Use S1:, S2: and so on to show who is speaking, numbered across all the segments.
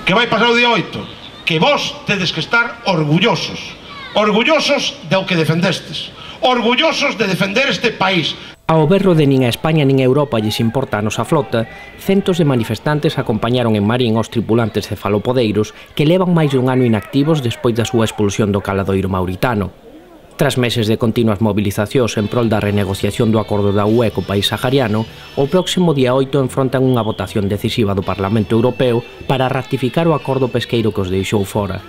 S1: Que vai pasar o día 8? Que vos tedes que estar orgullosos do que defendestes, orgullosos de defender este país.
S2: Ao berro de nin a España nin a Europa lles importa a nosa flota, centos de manifestantes acompañaron en Marín aos tripulantes cefalopodeiros que levan máis dun ano inactivos despois da súa expulsión do caladoiro mauritano. Tras meses de continuas movilizacións en prol da renegociación do acordo da UE co país sahariano, o próximo día 8 enfrontan unha votación decisiva do Parlamento Europeo para ratificar o acordo pesqueiro que os deixou fora.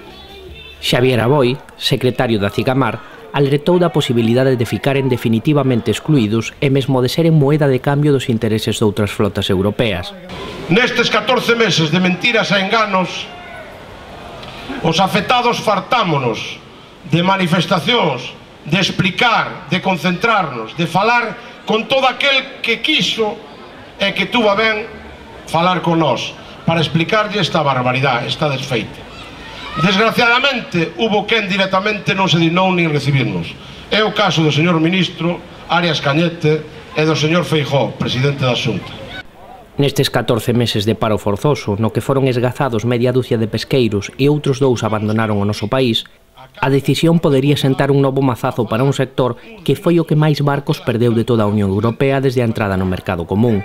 S2: Xavier Aboi, secretario da Cigamar, alertou da posibilidade de ficaren definitivamente excluídos e mesmo de seren moeda de cambio dos intereses de outras flotas europeas.
S1: Nestes 14 meses de mentiras e enganos, os afectados fartámonos de manifestacións, de explicar, de concentrarnos, de falar con todo aquel que quiso e que tuvo a ben falar con nós para explicarlle esta barbaridade, esta desfeita. Desgraciadamente, hubo quen directamente non se dignou nin recibirnos. É o caso do señor ministro Arias Cañete e do señor Feijóo, presidente da Xunta.
S2: Nestes 14 meses de paro forzoso, no que foron esgazados media dúcia de pesqueiros e outros 2 abandonaron o noso país, a decisión podería sentar un novo mazazo para un sector que foi o que máis barcos perdeu de toda a Unión Europea desde a entrada no mercado común.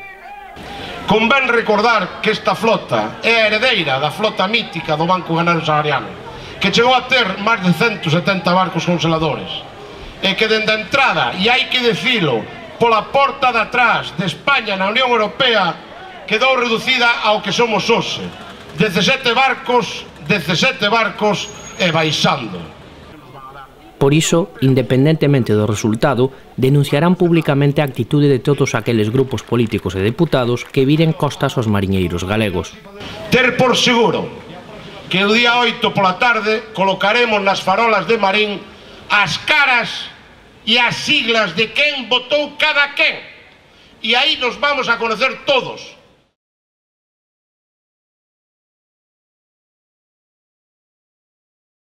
S1: Convén recordar que esta flota é a heredeira da flota mítica do Banco Ganaro Sahariano, que chegou a ter máis de 170 barcos congeladores, e que dende a entrada, e hai que dicilo, pola porta de atrás de España na Unión Europea, quedou reducida ao que somos hoxe, 17 barcos e baixando.
S2: Por iso, independentemente do resultado, denunciarán públicamente a actitude de todos aqueles grupos políticos e deputados que viren costas aos mariñeiros galegos.
S1: Ter por seguro que o día 8 pola tarde colocaremos nas farolas de Marín as caras e as siglas de quen votou cada quen. E aí nos vamos a conocer todos.